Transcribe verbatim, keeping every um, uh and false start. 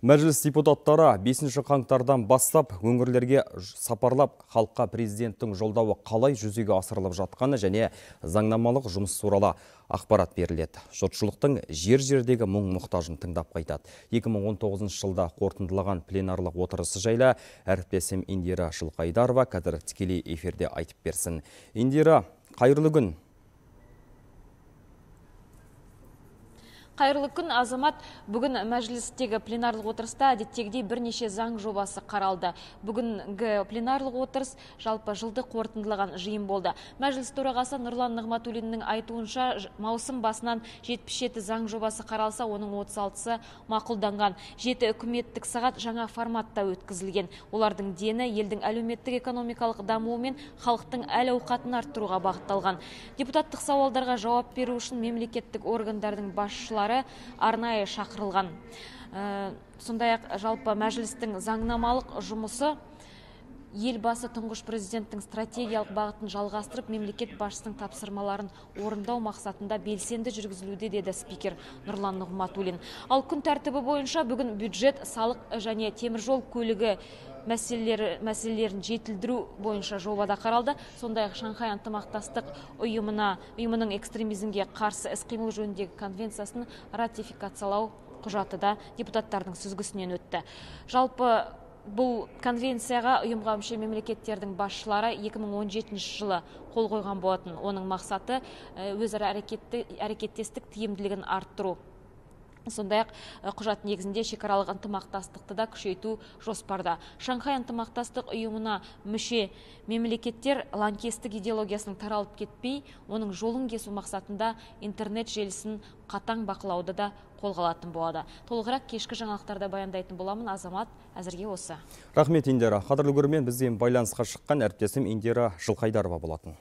Мәжіліс депутаттары бесінші қаңтардан бастап өңірлерге сапарлап халыққа президенттің жолдауы қалай жүзеге асырылып жатқаны және заңнамалық жұмыс туралы ақпарат беріледі. Жұртшылықтың жер-жердегі мұң-мұқтажын тыңдап қайтады. екі мың он тоғызыншы жылда қорытындылаған пленарлық отырысы жайлы әріптесім Индира Жылқайдарова қазір тікелей эфирде айтып берсін. Индира, қайырлы күн. Қайырлы күн, Азамат. Бүгін мәжілістегі пленарлық отырыста әдеттегідей бірнеше заң жобасы қаралды. Бүгінгі пленарлық отырыс жалпы жылды қорытындылаған жиын болды. Мәжіліс төрағасы Нұрлан Нығматуллиннің айтуынша, маусым басынан жетпіс жеті заң жобасы қаралса, оның отыз алтысы мақұлданған. жеті үкіметтік сағат жаңа форматта өткізілген. Олардың дені елдің әлеуметтік экономикалық дамуы мен халықтың әл-ауқатын арттыруға бағытталған. Депутаттық сауалдарға жауап беру үшін мемлекеттік органдардың басшылары арнайы шақырылған. Сондай-ақ жалпы мәжілістің заңнамалық жұмысы елбасы тұңғыш президенттің стратегиялық бағытын жалғастырып, мемлекет басшысының тапсырмаларын орындау мақсатында белсенді жүргізілуде, деді спикер Нұрлан Нығматуллин. Ал күн тәртібі бойынша бүгін бюджет, салық және теміржол көлігі мәселелерін жетілдіру бойынша жобада қаралды. Сондай-ақ Шанхай ынтымақтастық ұйымына, ұйымының экстремизмге қарсы іс-қимыл жөніндегі конвенциясын ратификациялау құжаты да депутаттардың сүзгісінен өтті. Жалпы бұл конвенцияға ұйымға мүше мемлекеттердің басшылары екі мың он жетінші жылы қол қойған болатын. Оның мақсаты өзара әрекеттестік тиімділігін арттыру. Сондай-ақ құжат негізінде шекаралық ынтымақтастықты да күшейту жоспарда. Шанхай ынтымақтастық ұйымына мүше мемлекеттер лаңкестік идеологиясының таралып кетпей, оның жолын кесу мақсатында интернет желісін қатаң бақылауды да қолға алатын болады. Толығырақ кешкі жаңалықтарда баяндайтын боламын. Азамат, әзірге осы. Рахмет, Индира. Қадірлі көрермен, бізбен байланысқа шыққан әріптесім Индира Жылқайдарова болатын.